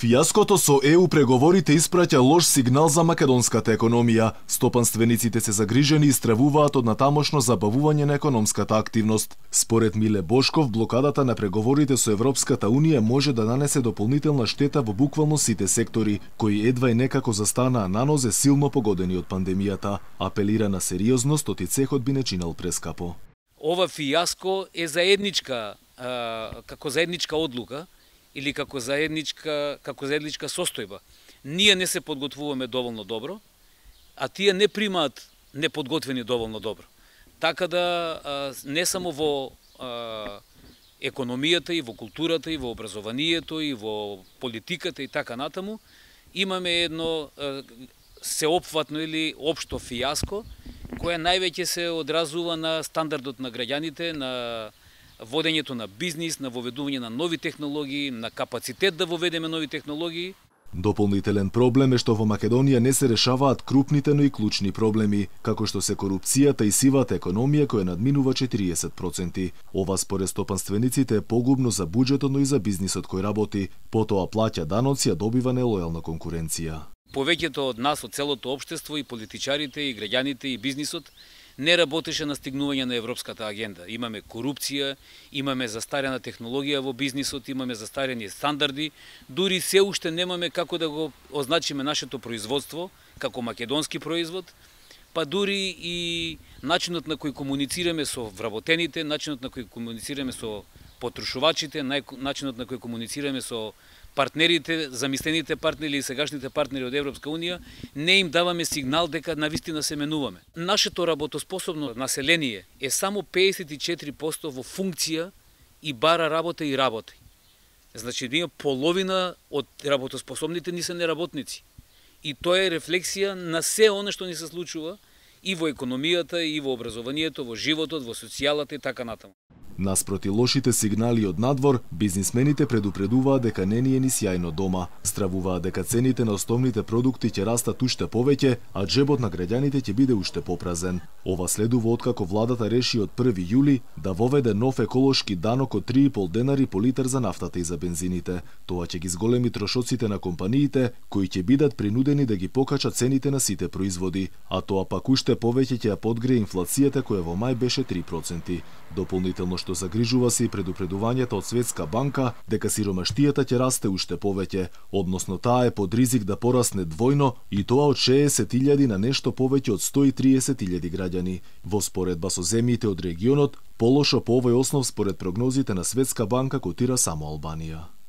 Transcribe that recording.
Фијаското со ЕУ преговорите испраќа лош сигнал за македонската економија. Стопанствениците се загрижени и стравуваат од натамошно забавување на економската активност. Според Миле Бошков, блокадата на преговорите со Европската Унија може да нанесе дополнителна штета во буквално сите сектори, кои едва и некако застанаа на нозе силно погодени од пандемијата. Апелира на сериозност, оти цехот би не чинал прескапо. Ова фијаско е заедничка, како заедничка одлука, или како заедничка состојба. Ние не се подготвуваме доволно добро, а тие не примаат неподготвени доволно добро. Така да не само во економијата, и во културата, и во образованието, и во политиката и така натаму, имаме едно сеопфатно или општо фијаско, кое највеќе се одразува на стандардот на граѓаните, на водењето на бизнис, на воведување на нови технологии, на капацитет да воведеме нови технологии. Дополнителен проблем е што во Македонија не се решаваат крупните, но и клучни проблеми, како што се корупцијата и сивата економија која надминува 40%. Ова според стопанствениците е погубно за буџетот, но и за бизнисот кој работи, потоа плаќа даноци, а добива нелојална конкуренција. Повеќето од нас, од целото општество, и политичарите, и граѓаните, и бизнисот, не работеше на стигнување на европската агенда. Имаме корупција, имаме застарена технологија во бизнисот, имаме застарени стандарди, дури се уште немаме како да го означиме нашето производство како македонски производ, па дури и начинот на кој комуницираме со вработените, начинот на кој комуницираме со потрошувачите, начинот на кој комуницираме со партнерите, замислените партнери или сегашните партнери од Европска Унија, не им даваме сигнал дека навистина се менуваме. Нашето работоспособно население е само 54% во функција и бара работа и работи. Значи, ние половина од работоспособните ни се неработници. И тоа е рефлексија на се оно што ни се случува и во економијата, и во образованието, во животот, во социјалата и така натаму. Наспроти лошите сигнали од надвор, бизнисмените предупредуваат дека не ни е ни сјајно дома. Стравуваат дека цените на основните продукти ќе растат уште повеќе, а джебот на граѓаните ќе биде уште попразен. Ова следува откако владата реши од 1 јули да воведе нов еколошки данок од 3,5 денари по литар за нафтата и за бензините. Тоа ќе ги зголеми трошоците на компаниите, кои ќе бидат принудени да ги покачат цените на сите производи, а тоа пак уште повеќе ќе ја подгрее инфлацијата која во мај беше 3%. Дополнително што загрижува се и предупредувањето од Светска банка дека сиромаштијата ќе расте уште повеќе, односно таа е под ризик да порасне двојно и тоа од 60.000 на нешто повеќе од 130.000 граѓани. Во споредба со земјите од регионот, полошо по овој основ според прогнозите на Светска банка котира само Албанија.